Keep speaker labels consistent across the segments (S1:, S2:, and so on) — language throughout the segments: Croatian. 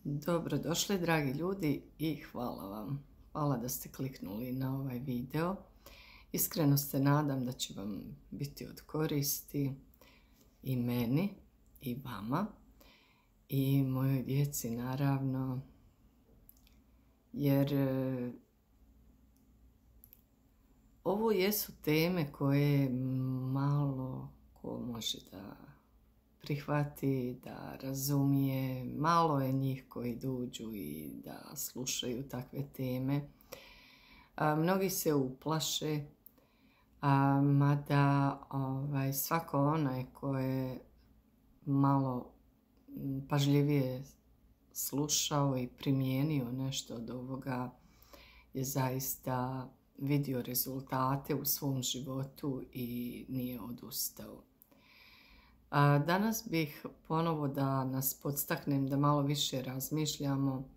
S1: Dobrodošli dragi ljudi i hvala vam. Hvala da ste kliknuli na ovaj video. Iskreno se nadam da će vam biti od koristi i meni i vama i mojoj djeci naravno, jer ovo jesu teme koje malo ko može da prihvati, da razumije. Malo je njih koji dođu i da slušaju takve teme. Mnogi se uplaše, mada svako onaj ko je malo pažljivije slušao i primijenio nešto od ovoga je zaista vidio rezultate u svom životu i nije odustao. Danas bih ponovo da nas podstaknem da malo više razmišljamo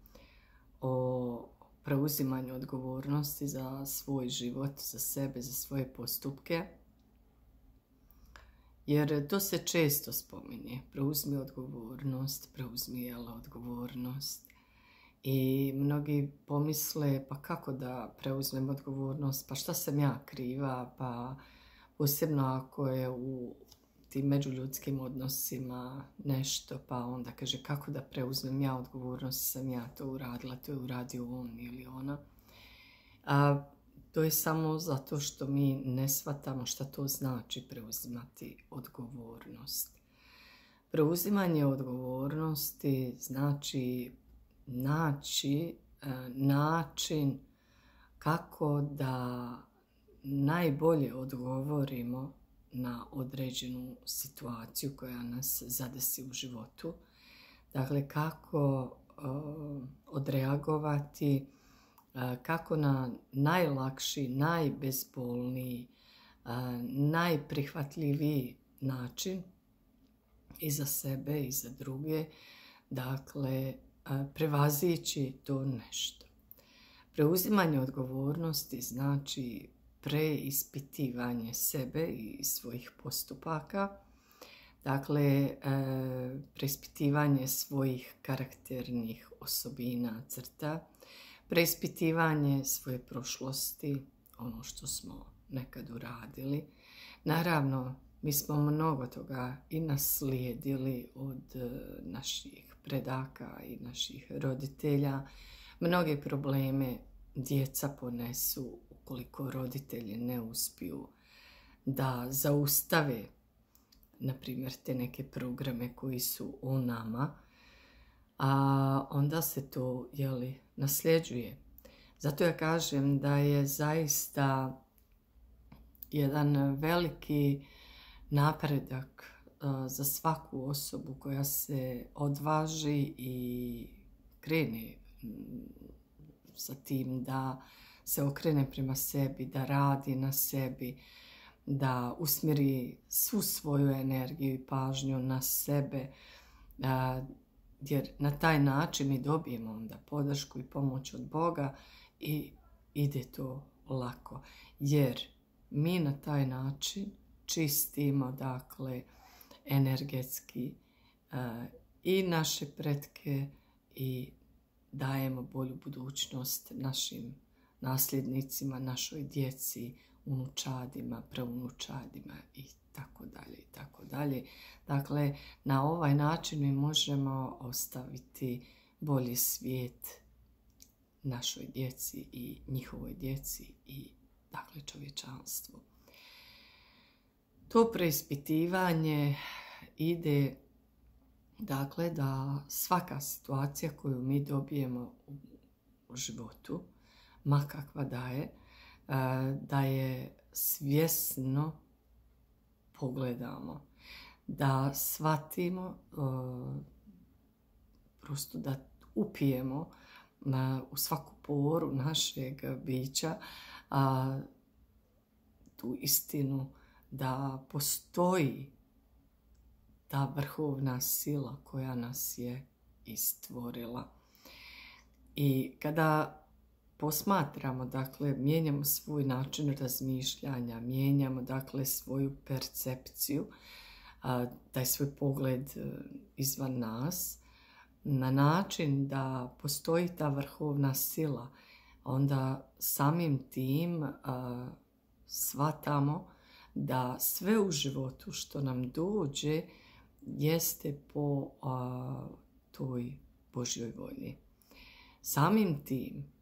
S1: o preuzimanju odgovornosti za svoj život, za sebe, za svoje postupke. Jer to se često spominje. Preuzmi odgovornost, preuzmi odgovornost. I mnogi pomisle, pa kako da preuzmem odgovornost, pa šta sam ja kriva, pa posebno ako je u tim međuljudskim odnosima nešto, pa onda kaže kako da preuzmem ja odgovornost, sam ja to uradila, to je uradio on ili ona. To je samo zato što mi ne shvatamo šta to znači preuzimati odgovornost. Preuzimanje odgovornosti znači naći način kako da najbolje odgovorimo na određenu situaciju koja nas zadesi u životu. Dakle, kako odreagovati, kako na najlakši, najbezbolniji, najprihvatljiviji način i za sebe i za druge, dakle, prevazići to nešto. Preuzimanje odgovornosti znači preispitivanje sebe i svojih postupaka, dakle preispitivanje svojih karakternih osobina, crta, preispitivanje svoje prošlosti, ono što smo nekad uradili. Naravno, mi smo mnogo toga i naslijedili od naših predaka i naših roditelja. Mnoge probleme djeca ponesu ukoliko roditelji ne uspiju da zaustave, na primjer, te neke programe koji su u nama, a onda se to nasljeđuje. Zato ja kažem da je zaista jedan veliki napredak za svaku osobu koja se odvaži i krene sa tim da se okrene prema sebi, da radi na sebi, da usmjeri svu svoju energiju i pažnju na sebe, jer na taj način mi dobijemo onda podršku i pomoć od Boga i ide to lako. Jer mi na taj način čistimo, dakle, energetski i naše pretke i dajemo bolju budućnost našim nasljednicima, našoj djeci, unučadima, praunučadima i tako dalje i tako dalje. Dakle, na ovaj način mi možemo ostaviti bolji svijet našoj djeci i njihovoj djeci i, dakle, čovječanstvu. To preispitivanje ide, dakle, da svaka situacija koju mi dobijemo u životu, ma kakva da je svjesno pogledamo, da shvatimo, prosto da upijemo u svaku poru našeg bića tu istinu da postoji ta vrhovna sila koja nas je istvorila. I kada posmatramo, dakle, mijenjamo svoj način razmišljanja, mijenjamo, dakle, svoju percepciju, taj svoj pogled izvan nas, na način da postoji ta vrhovna sila, onda samim tim shvatamo da sve u životu što nam dođe jeste po toj Božjoj volji. Samim tim,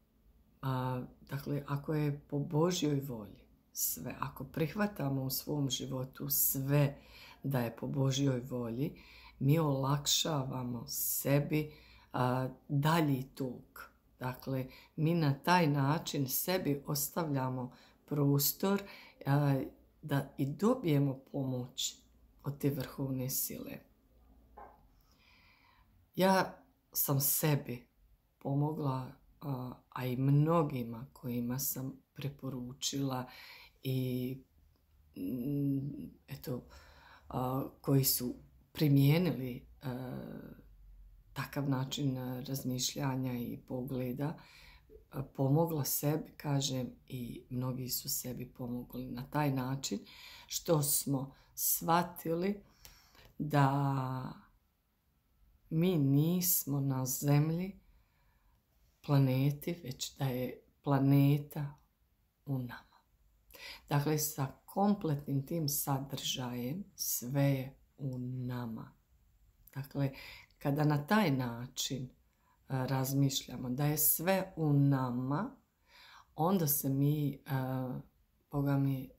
S1: dakle, ako je po Božjoj volji sve, ako prihvatamo u svom životu sve da je po Božjoj volji, mi olakšavamo sebi dalji tok. Dakle, mi na taj način sebi ostavljamo prostor da i dobijemo pomoć od te vrhovne sile. Ja sam sebi pomogla, a i mnogima kojima sam preporučila i koji su primijenili takav način razmišljanja i pogleda, pomogla sebi, kažem, i mnogi su sebi pomogli na taj način što smo shvatili da mi nismo na zemlji, planeti, već da je planeta u nama. Dakle, sa kompletnim tim sadržajem sve je u nama. Dakle, kada na taj način razmišljamo da je sve u nama, onda se mi, Boga mi,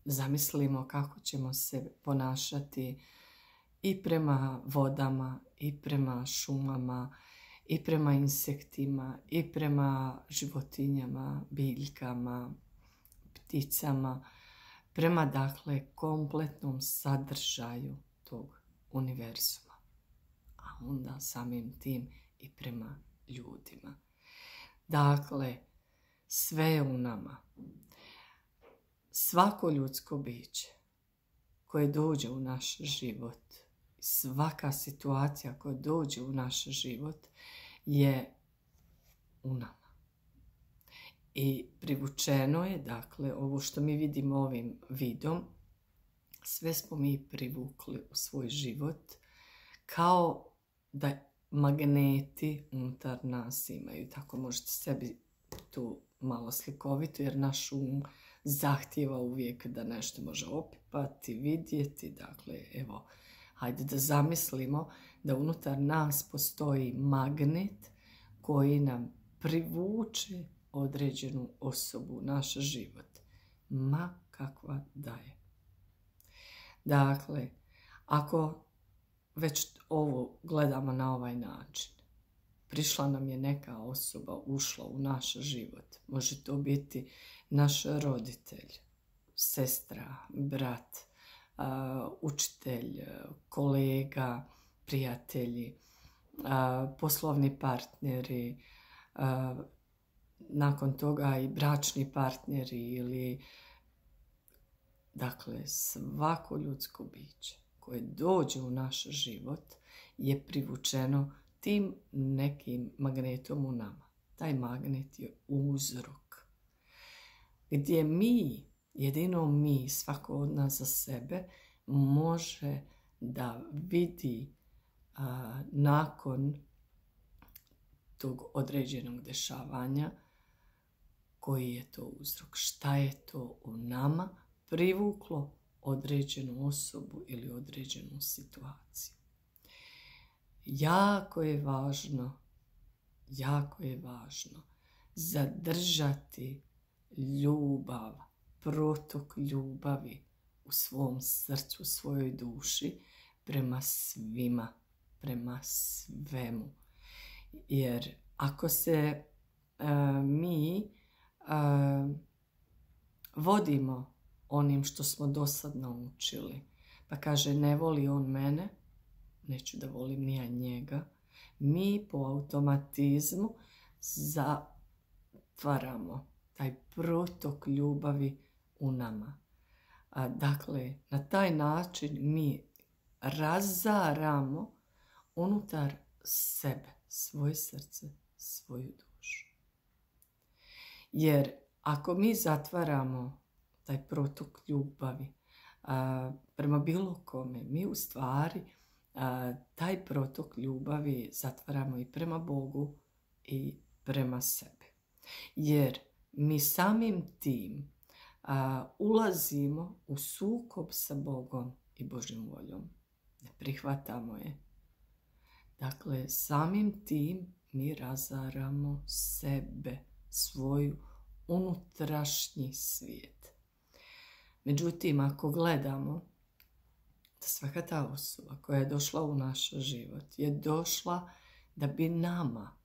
S1: zamislimo kako ćemo se ponašati i prema vodama, i prema šumama, i prema insektima, i prema životinjama, biljkama, pticama, prema, dakle, kompletnom sadržaju tog univerzuma. A onda samim tim i prema ljudima. Dakle, sve je u nama. Svako ljudsko biće koje dođe u naš život, svaka situacija koja dođe u naš život je u nama. I privučeno je, dakle, ovo što mi vidimo ovim vidom, sve smo mi privukli u svoj život kao da magneti unutar nas imaju. Tako možete sebi tu malo slikovito, jer naš um zahtijeva uvijek da nešto može opipati, vidjeti. Dakle, evo, hajde da zamislimo da unutar nas postoji magnet koji nam privuče određenu osobu u naš život, ma kakva da je. Dakle, ako već ovo gledamo na ovaj način, prišla nam je neka osoba, ušla u naš život. Može to biti naš roditelj, sestra, brat, učitelj, kolega, prijatelji, poslovni partneri, nakon toga i bračni partneri ili, dakle, svako ljudsko biće koje dođe u naš život je privučeno tim nekim magnetom u nama. Taj magnet je uzrok. Gdje mi, jedino mi, svako od nas za sebe, može da vidi nakon tog određenog dešavanja koji je to uzrok, šta je to u nama privuklo određenu osobu ili određenu situaciju. Jako je važno zadržati ljubav, protok ljubavi u svom srcu, u svojoj duši prema svima, prema svemu. Jer ako se mi vodimo onim što smo dosad naučili, pa kaže ne voli on mene, neću da volim ni ja njega, mi po automatizmu zatvaramo taj protok ljubavi u nama. Dakle, na taj način mi razaramo unutar sebe, svoje srce, svoju dušu. Jer ako mi zatvaramo taj protok ljubavi prema bilo kome, mi u stvari taj protok ljubavi zatvaramo i prema Bogu i prema sebi. Jer mi samim tim ulazimo u sukob sa Bogom i Božjom voljom. Ne prihvatamo je. Dakle, samim tim mi razaramo sebe, svoju unutrašnji svijet. Međutim, ako gledamo da svaka ta osoba koja je došla u naš život je došla da bi nama,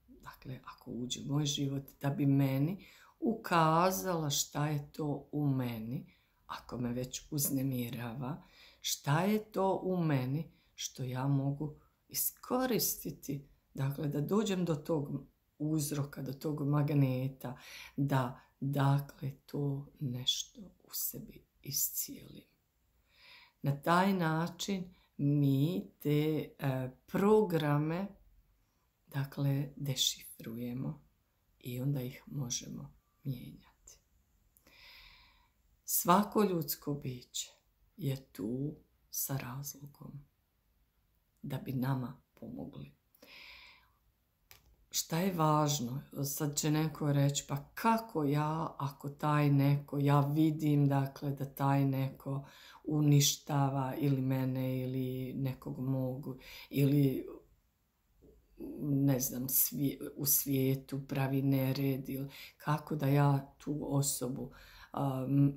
S1: dakle, ako uđe u moj život, da bi meni ukazala šta je to u meni, ako me već uznemirava, šta je to u meni što ja mogu iskoristiti, dakle, da dođem do tog uzroka, do tog magneta, da, dakle, to nešto u sebi iscijelim. Na taj način mi te programe, dakle, dešifrujemo i onda ih možemo mijenjati. Svako ljudsko biće je tu sa razlogom da bi nama pomogli. Šta je važno? Sad će neko reći, pa kako ja, ako taj neko, ja vidim, dakle, da taj neko uništava ili mene ili nekog mogu, ili ne znam, u svijetu pravi nered, ili kako da ja tu osobu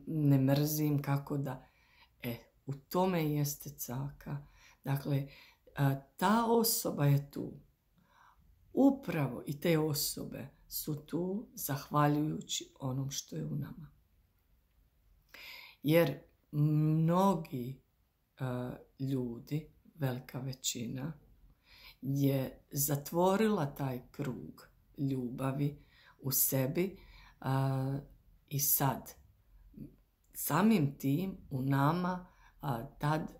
S1: ne mrzim, kako da... u tome jeste caka. Dakle, ta osoba je tu. Upravo i te osobe su tu zahvaljujući onom što je u nama. Jer mnogi ljudi, velika većina, je zatvorila taj krug ljubavi u sebi i sad samim tim u nama tad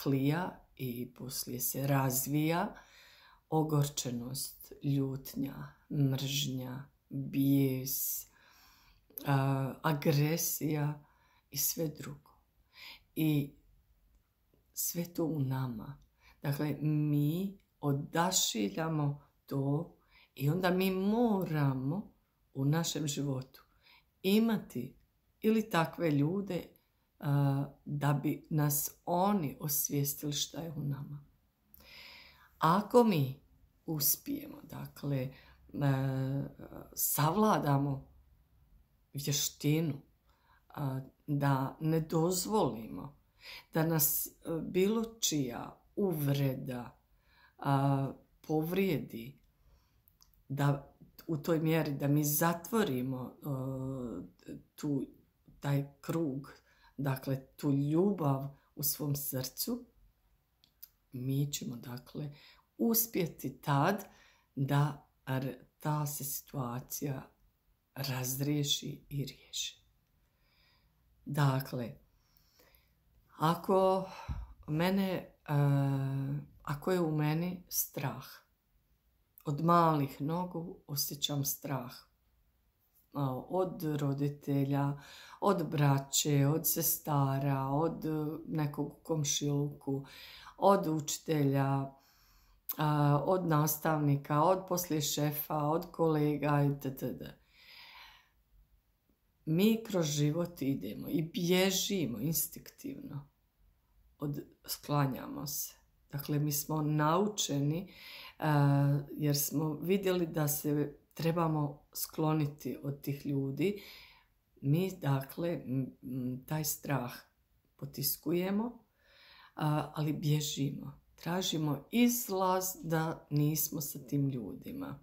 S1: klija i poslije se razvija ogorčenost, ljutnja, mržnja, bijes, agresija i sve drugo. I sve to u nama. Dakle, mi odašiljamo to i onda mi moramo u našem životu imati ili takve ljude da bi nas oni osvijestili šta je u nama. Ako mi uspijemo, dakle, savladamo vještinu da ne dozvolimo da nas bilo čija uvreda povrijedi, da u toj mjeri da mi zatvorimo taj krug, dakle tu ljubav u svom srcu, mi ćemo, dakle, uspjeti tad da ta se situacija razriješi i riješi. Dakle, ako je u meni strah, od malih nogu osjećam strah. Od roditelja, od braće, od sestara, od nekog u komšiluku, od učitelja, od nastavnika, od poslije šefa, od kolega itd. Mi kroz život idemo i bježimo instinktivno. Sklanjamo se. Dakle, mi smo naučeni jer smo vidjeli da se trebamo skloniti od tih ljudi. Mi, dakle, taj strah potiskujemo, ali bježimo. Tražimo izlaz da nismo sa tim ljudima.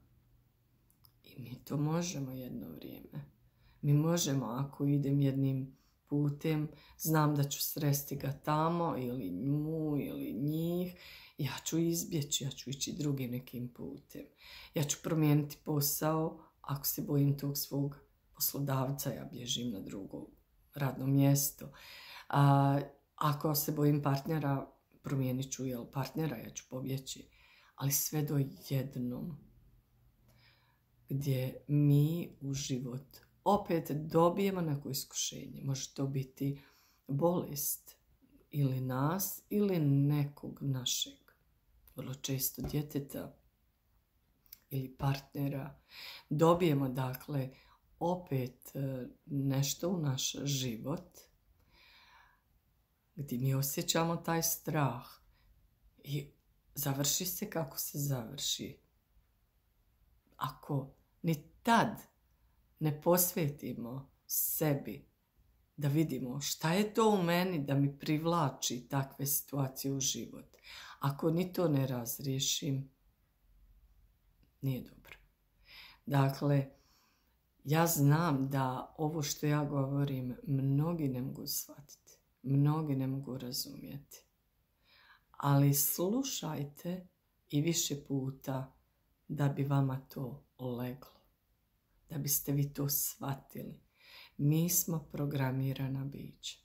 S1: I mi to možemo jedno vrijeme. Mi možemo, ako idem jednim putem, znam da ću sresti ga tamo ili nju ili njih, ja ću izbjeći, ja ću ići drugim nekim putem. Ja ću promijeniti posao, ako se bojim tog svog poslodavca, ja bježim na drugo radno mjesto. Ako se bojim partnera, promijenit ću partnera, ja ću pobjeći. Ali sve do jednom gdje mi u život opet dobijemo neko iskušenje. Može to biti bolest ili nas ili nekog našeg, vrlo često djeteta ili partnera, dobijemo dakle opet nešto u naš život gdje mi osjećamo taj strah i završi se kako se završi. Ako ni tad ne posvetimo sebi da vidimo šta je to u meni da mi privlači takve situacije u život, ako ni to ne razriješim, nije dobro. Dakle, ja znam da ovo što ja govorim mnogi ne mogu shvatiti, mnogi ne mogu razumjeti. Ali slušajte i više puta da bi vama to leglo, da biste vi to shvatili. Mi smo programirana bića.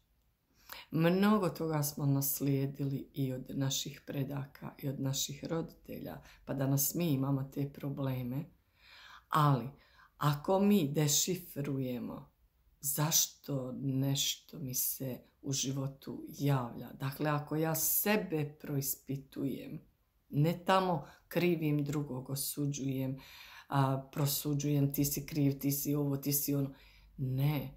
S1: Mnogo toga smo naslijedili i od naših predaka i od naših roditelja, pa danas mi imamo te probleme. Ali ako mi dešifrujemo zašto nešto mi se u životu javlja, dakle ako ja sebe proispitujem, ne tamo krivim drugog, osuđujem, prosuđujem, ti si kriv, ti si ovo, ti si ono, ne,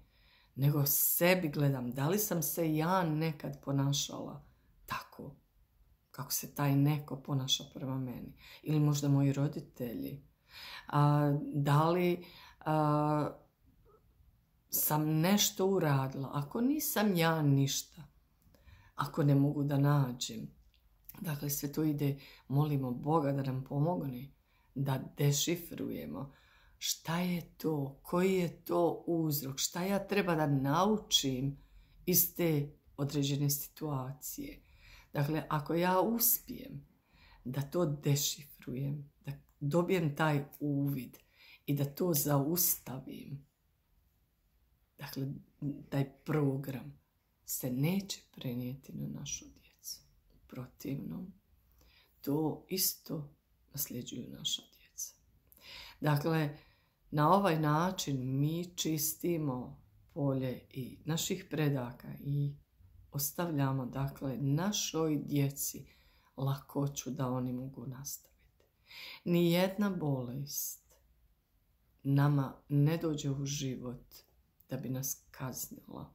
S1: nego sebi gledam da li sam se ja nekad ponašala tako kako se taj neko ponaša prema meni, ili možda moji roditelji. Da li sam nešto uradila, ako nisam ja ništa, ako ne mogu da nađem. Dakle, sve to ide, molimo Boga da nam pomogne, da dešifrujemo šta je to, koji je to uzrok, šta ja treba da naučim iz te određene situacije. Dakle, ako ja uspijem da to dešifrujem, da dobijem taj uvid i da to zaustavim, dakle, taj program se neće prenijeti na našu djecu. U protivnom, to isto nasljeđuju naša djeca. Dakle, na ovaj način mi čistimo polje i naših predaka i ostavljamo, dakle, našoj djeci lakoću da oni mogu nastaviti. Nijedna bolest nama ne dođe u život da bi nas kaznila,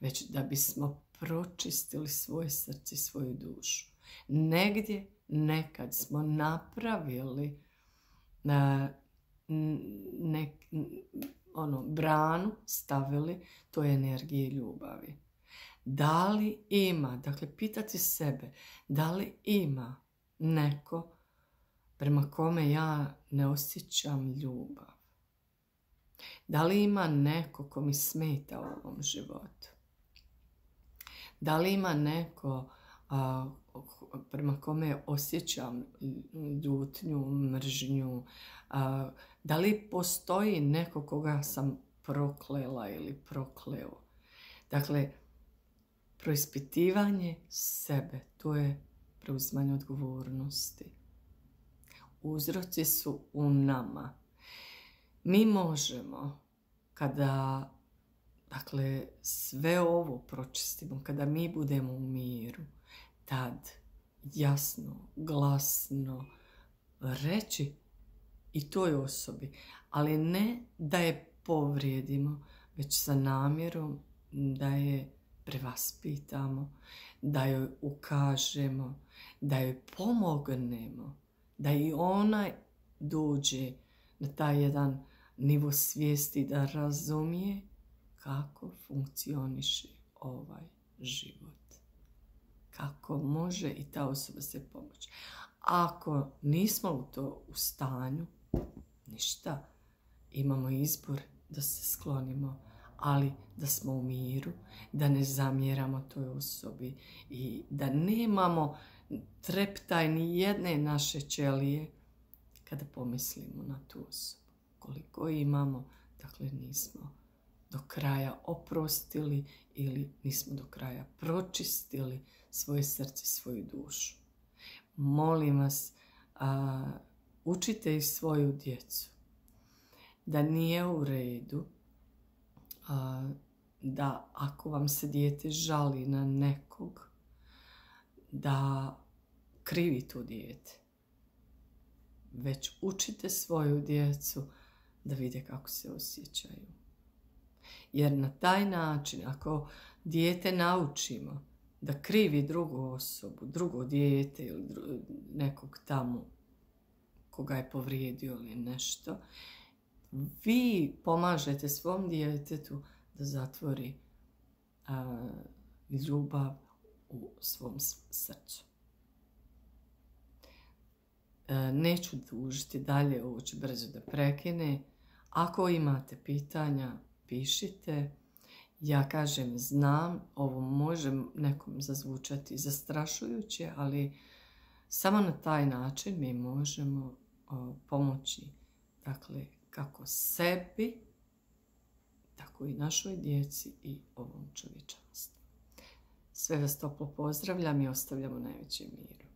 S1: već da bismo pročistili svoje srce i svoju dušu. Negdje nekad smo napravili branu, stavili, to je energije ljubavi. Da li ima, dakle pitati sebe, da li ima neko prema kome ja ne osjećam ljubav? Da li ima neko ko mi smeta u ovom životu? Da li ima neko prema kome osjećam ljutnju, mržnju? Da li postoji neko koga sam proklela ili prokleo? Dakle, proispitivanje sebe, to je preuzimanje odgovornosti. Uzroci su u nama. Mi možemo, kada sve ovo pročistimo, kada mi budemo u miru, tad jasno, glasno reći i toj osobi, ali ne da je povrijedimo, već sa namjerom da je prevaspitamo, da joj ukažemo, da joj pomognemo, da i ona dođe na taj jedan nivo svijesti da razumije kako funkcioniše ovaj život. Kako može i ta osoba se pomoći. Ako nismo u stanju, ništa, imamo izbor da se sklonimo, ali da smo u miru, da ne zamjeramo toj osobi i da nemamo treptaj ni jedne naše ćelije kada pomislimo na tu osobu. Koliko imamo, dakle nismo do kraja oprostili ili nismo do kraja pročistili svoje srce, svoju dušu. Molim vas, učite i svoju djecu da nije u redu da ako vam se dijete žali na nekog, da krivi to dijete. Već učite svoju djecu da vide kako se osjećaju. Jer na taj način, ako dijete naučimo da krivi drugu osobu, drugo dijete ili nekog tamo koga je povrijedio ili nešto, vi pomažete svom djetetu da zatvori ljubav u svom srcu. Neću dužiti dalje, ovo ću brzo da prekine. Ako imate pitanja, pišite. Ja kažem, znam, ovo može nekom zazvučati zastrašujuće, ali samo na taj način mi možemo pomoći, dakle, kako sebi, tako i našoj djeci i ovom čovječanstvu. Sve vas toplo pozdravljam i ostavljam u najvećem miru.